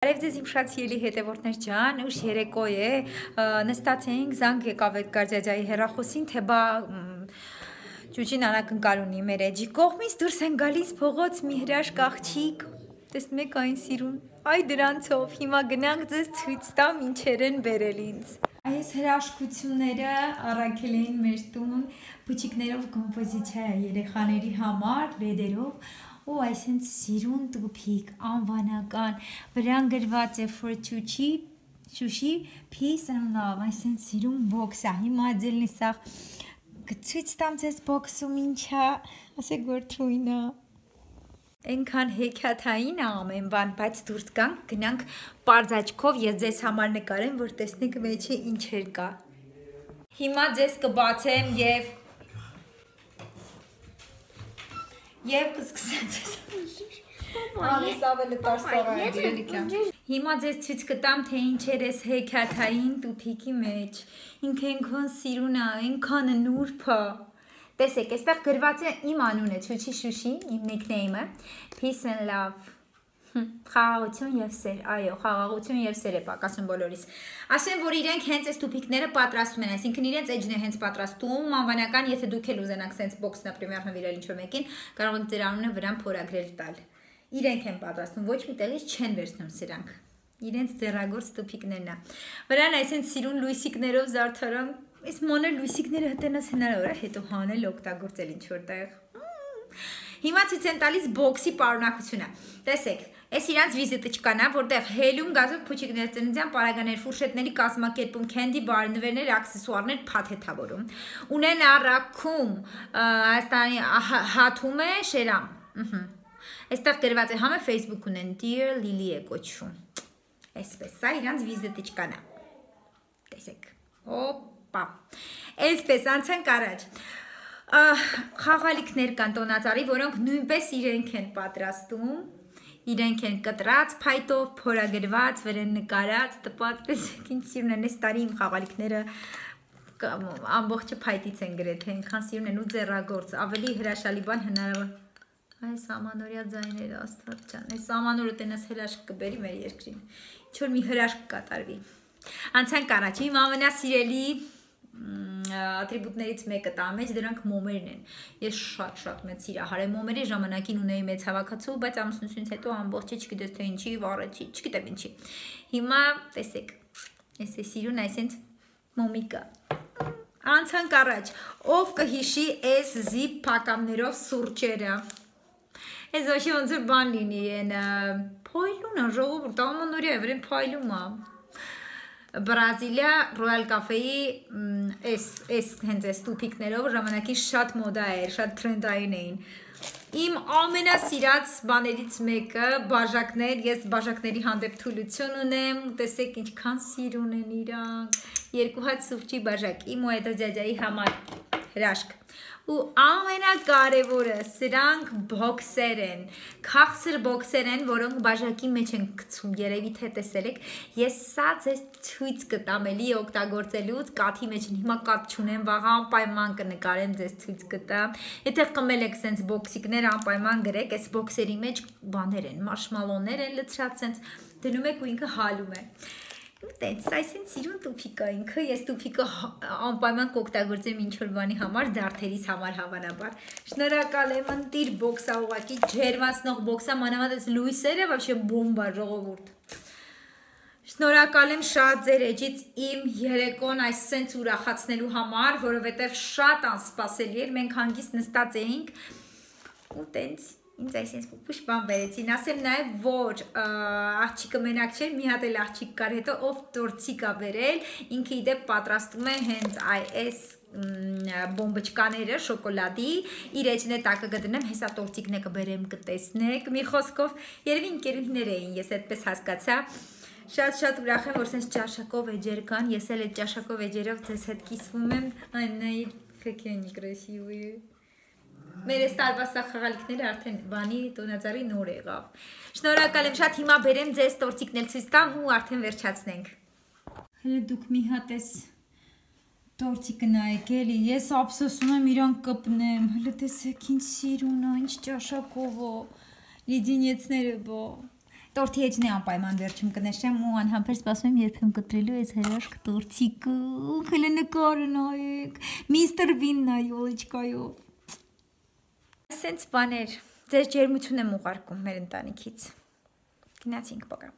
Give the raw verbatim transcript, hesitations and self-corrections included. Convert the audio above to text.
Արև ձեզ իմ շատ սիրելի հետևորդներ ջան, ուշ երեկո է, նստած էինք, զանգ եկավ այդ գարձյաջայի հեռախոսին, թե բա ճուճին անակնկալ ունի մեր էջի կողմից, դուրս են գալիս փողոց մի հրաշք աղջիկ, տեսնում եք այն սիրուն, այ դրանցով, հիմա գնանք ձեզ ցույց տամ ինչեր են բերել ինձ։ Այս հրաշքությունները առաքել էին մեր տուն, փուչիկներով կոմպոզիցիա է երեխաների համար, լեդերով, ու այսինքն սիրուն տուփիկ, անվանական, վրան գրված է for Chuchi, Chuchi, peace and love, այսինքն սիրուն բոքս է, հիմա ձելնի սաղ գցույց տամ ձեզ բոքսում ինչա, ասեք որ թույնա, ենքան հեքյաթային է ամեն բան, բայց դուրս կանք, գնանք պարզ աչքով ես ձեզ համար նկարեմ, որ տեսնեք մեջի ինչեր կա, հիմա ձեզ կբացեմ և Եվ կսկսեմ ձեզ Անես ավելը տարսաղա է գիրելիքյա Հիմա ձեզ ցույց կտամ, թե ինչեր ես հեքյաթային տուփիկի մեջ Ինքը ենքան սիրուն է, ենքան նուրբ է Տեսեք, այստեղ գրված է իմ անունը, Chuchi Shushi, իմ նիքնեյմը Peace and love Խաղաղություն և սեր, այո, խաղաղություն և սեր է պակասում բոլորիս Ասեմ, որ իրենք հենց այս տուփիկները պատրաստում են, այսինքն իրենց էջն է հենց պատրաստում, անվանական, եթե դուք էլ ուզենաք սենց բոքս, նապրիմեր, նվիրել ինչ-որ մեկին, կարող եք ձեր անունը վրան փորագրել տալ Իրենք են պատրաստում, ոչ մի տեղից չեն վերցնում սրանք Իրենց ձեռագործ տուփիկներն է Վրան այսինքն սիրուն լույսիկներով զարդարան, այս մանր լույսիկները հտենաս հնարավոր է, հետո հանել օգտագործել ինչ-որ տեղ Հիմա ցույց եմ տալիս բոքսի պարունակությունը Տեսեք, այս իրանց վիզիտիչկան է, որտեղ հելյում, գազով, փուչիկներ, ծննդյան պարագաներ, ֆուրշետների կազմակերպում, քենդի բար, նվերներ, աքսեսուարներ փաթեթավորում Ունեն առաքում, Հայաստանի հաթում է շերամ Այստեղ գրված է համը Facebook ունեն, Dear Lily է կոչվում Այսպես, սա իրանց վիզիտիչկան է Տեսեք, օպա Այսպես, անցանք առաջ Խաղալիքներ կան տոնածառի, որոնք նույնպես իրենք են պատրաստում Իրենք են կտրած, փայտով, փորագրված, վրան նկարած, տպած, տեսեք ինչ սիրուն են, այս տարի իմ խաղալիքները ամբողջը փայտից են գրեթե, այնքան սիրուն են ու ձեռագործ, ավելի հրաշալի բան հնարավոր Այս ամանորյա ձայները, աստված ջան, այս ամանորը տենաս հրաշք կբերի մեր երկրին, ինչ-որ մի հրաշք կատարվի Անցանք առաջ, իմ ամենասիրելի ատրիբուտներից մեկը տա մեջ դրանք մոմերն են ես շատ-շատ մեծ սիրահար եմ մոմերի ժամանակին ունեի մեծ հավաքածու բայց ամուսնությունից հետո ամբողջը չգիտես թե ինչի վառեցի չգիտեմ ինչի հիմա տեսեք ես է սիրուն այսինքն մոմիկա անցանք առաջ ով կհիշի այս զիպ փակամներով սուրճերը այս ոչի ոնց որ բան լինի են փոյլուն է ժողովուրդ ամանորյա վրան փայլում է Բրազիլիա Royal Cafe-ի այս հենց այս տուփիկներով ժամանակին շատ մոդա էր, շատ թրենդային էին Իմ ամենասիրած բաներից մեկը բաժակներ, ես բաժակների հանդեպ թուլություն ունեմ, տեսեք ինչքան սիրուն են իրանք, երկու հատ սուրճի բաժակ, իմ ու հետո ջաջայի համար հրաշք ու ամենակարևորը սրանք բոքսեր են, քաղցր բոքսեր են, որոնք բաժակի մեջ են գցում, երևի թե տեսել եք, ես սա ձեզ ցույց կտամ էլի օգտագործելուց, կաթի մեջ են, հիմա կաթ չունեմ, վաղ անպայման կնկարեմ ձեզ ցույց կտամ, եթե խմել եք սենց բոքսիկներ անպայման գրեք, այս բոքսերի մեջ բաներ են, մարշմալոներ են լցրած սենց, դնում եք ու ինքը հալում է Տենց, այսին սիրուն տուփիկա ինքը, ես տուփիկը անպայման կօգտագործեմ ինչ-որ բանի համար, դարդերիս համար հավանաբար Շնորհակալ եմ, ընտիր բոքսա ուղղակի, ջերմացնող բոքսա, մանավանդ այս լույսերը, вообще բոմբա ժողովուրդ Շնորհակալ եմ շատ ձեր էջից իմ երեկոն այս սենց ուրախացնելու համար, որովհետև շատ անսպասելի էր, մենք հանգիստ նստած էինք ու տենց Ինձ այսինքն փուշ բան բերեցին, ասեմ նաև որ աղջիկը մենակ չէր, մի հատ էլ աղջիկ կար հետո ով տորտիկ ա բերել, ինքը իդեպ պատրաստում է հենց այս բոմբոճկաները շոկոլադի, իր էջն է տակը կդնեմ, հեսա տորտիկն է կբերեմ կտեսնեք, մի խոսքով երևի ընկերուհիներ էին, ես այդպես հասկացա Շատ-շատ ուրախ եմ, որ սենց ճաշակով էջեր կան, ես էլ այդ ճաշակով էջերով ձեզ հետ կիսվում եմ, այննայի կեքենի կրեսիվի Մեր այս տարվա սա խաղալիքները արդեն բանի տոնածառի նոր եղավ Շնորհակալ եմ շատ հիմա բերեմ ձեզ տորտիկն էլ ցույց տամ ու արդեն վերջացնենք Հələ դուք մի հատ էս տորտիկը նայեք էլի ես ափսոսում եմ իրան կպնեմ հələ տեսեք ինչ սիրուն է ինչ ճաշակով է լիդինեցները բո Տորթի էջն է անպայման վերջում կնշեմ ու անհամբեր սպասում եմ երբեմ կտրելու այս հրաշք տորթիկը։ Քլե նկարը նայեք։ Միստր Բին նայ ոլիչկայով։ Սենց բաներ, ձեր ջերմություն եմ ուղարկում մեր ընտանիքից։ Գնացինք, պոկա։